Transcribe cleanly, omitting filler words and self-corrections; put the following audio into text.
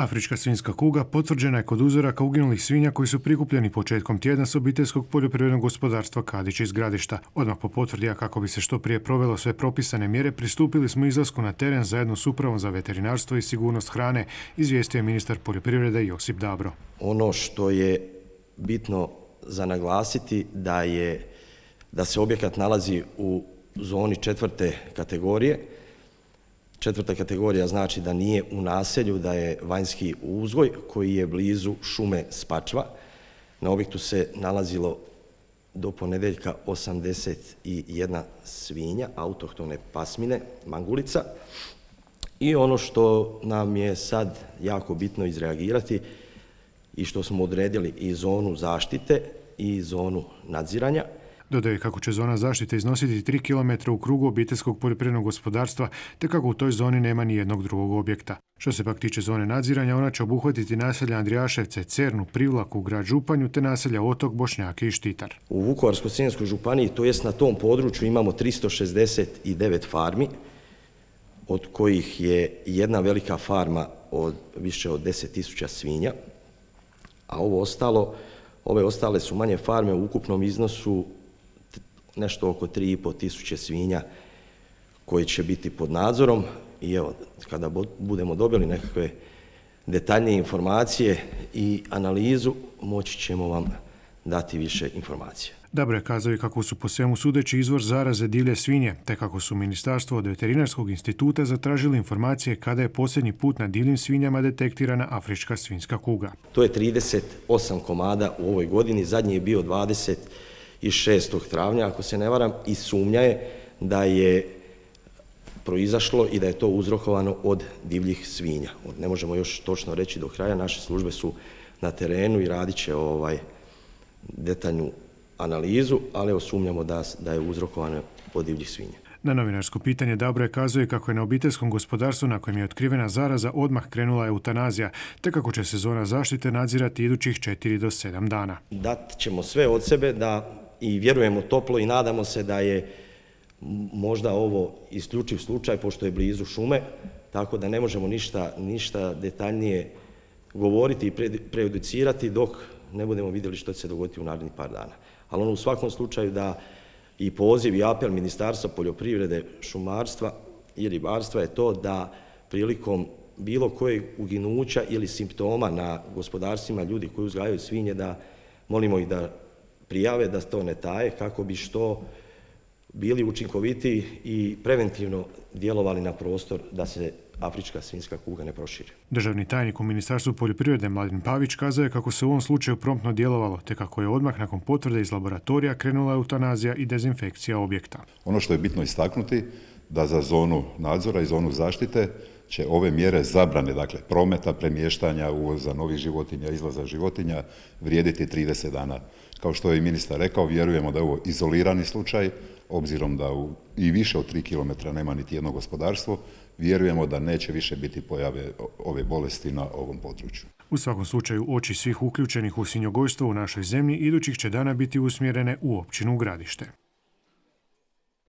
Afrička svinjska kuga potvrđena je kod uzoraka uginulih svinja koji su prikupljeni početkom tjedna s obiteljskog poljoprivrednog gospodarstva Kadić iz Gradišta. Odmah po potvrdi, a kako bi se što prije provelo sve propisane mjere, pristupili smo izlasku na teren zajedno s Upravom za veterinarstvo i sigurnost hrane, izvijestio je ministar poljoprivrede Josip Dabro. Ono što je bitno za naglasiti da se objekat nalazi u zoni 4. kategorije. 4. kategorija znači da nije u naselju, da je vanjski uzgoj koji je blizu šume Spačva. Na objektu se nalazilo do ponedjeljka 81 svinja, autohtone pasmine, mangulica. I ono što nam je sad jako bitno izreagirati i što smo odredili i zonu zaštite i zonu nadziranja. Dodaje kako će zona zaštite iznositi 3 km u krugu obiteljskog poljoprivrednog gospodarstva, te kako u toj zoni nema ni jednog drugog objekta. Što se pak tiče zone nadziranja, ona će obuhvatiti naselja Andrijaševce, Cernu, Privlaku, grad Županju, te naselja Otok, Bošnjaki i Štitar. U Vukovarsko-srijemskoj županiji, to jest na tom području, imamo 369 farmi, od kojih je jedna velika farma od više od 10.000 svinja, a ove ostale su manje farme u ukupnom iznosu nešto oko 3.500 svinja koji će biti pod nadzorom i evo, kada budemo dobili nekakve detaljnije informacije i analizu, moći ćemo vam dati više informacija. Dabro je kazao i kako su po svemu sudeći izvor zaraze divlje svinje, te kako su ministarstvo od Veterinarskog instituta zatražili informacije kada je posljednji put na divljim svinjama detektirana afrička svinjska kuga. To je 38 komada u ovoj godini, zadnji je bio 26. travnja, ako se ne varam, i sumnja je da je proizašlo i da je to uzrokovano od divljih svinja. Ne možemo još točno reći do kraja, naše službe su na terenu i radit će detaljnu analizu, ali evo sumnjamo da je uzrokovano od divljih svinja. Na novinarsko pitanje Dabro je kazao kako je na obiteljskom gospodarstvu na kojem je otkrivena zaraza odmah krenula eutanazija, te kako će se zona zaštite nadzirati idućih 4 do 7 dana. Dat ćemo sve od sebe i vjerujemo toplo i nadamo se da je možda ovo isključiv slučaj, pošto je blizu šume, tako da ne možemo ništa detaljnije govoriti i prejudicirati dok ne budemo vidjeli što će se dogoditi u narednih par dana. Ali u svakom slučaju da i poziv i apel Ministarstva poljoprivrede, šumarstva i ribarstva je to da prilikom bilo kojeg uginuća ili simptoma na gospodarstvima ljudi koji uzgajaju svinje, da molimo ih da prijave, da to ne taje, kako bi što bili učinkovitiji i preventivno djelovali na prostor da se afrička svinjska kuga ne proširi. Državni tajnik u Ministarstvu poljoprivrede Mladen Pavić kazao je kako se u ovom slučaju promptno djelovalo, te kako je odmah nakon potvrde iz laboratorija krenula eutanazija i dezinfekcija objekta. Ono što je bitno istaknuti, da za zonu nadzora i zonu zaštite će ove mjere zabrane, dakle prometa, premještanja, uvoza novih životinja, izlaza životinja, vrijediti 30 dana. Kao što je i ministar rekao, vjerujemo da je ovo izolirani slučaj, obzirom da i više od 3 km nema niti jedno gospodarstvo, vjerujemo da neće više biti pojave ove bolesti na ovom području. U svakom slučaju, oči svih uključenih u svinjogojstvo u našoj zemlji idućih će dana biti usmjerene u općinu Gradište.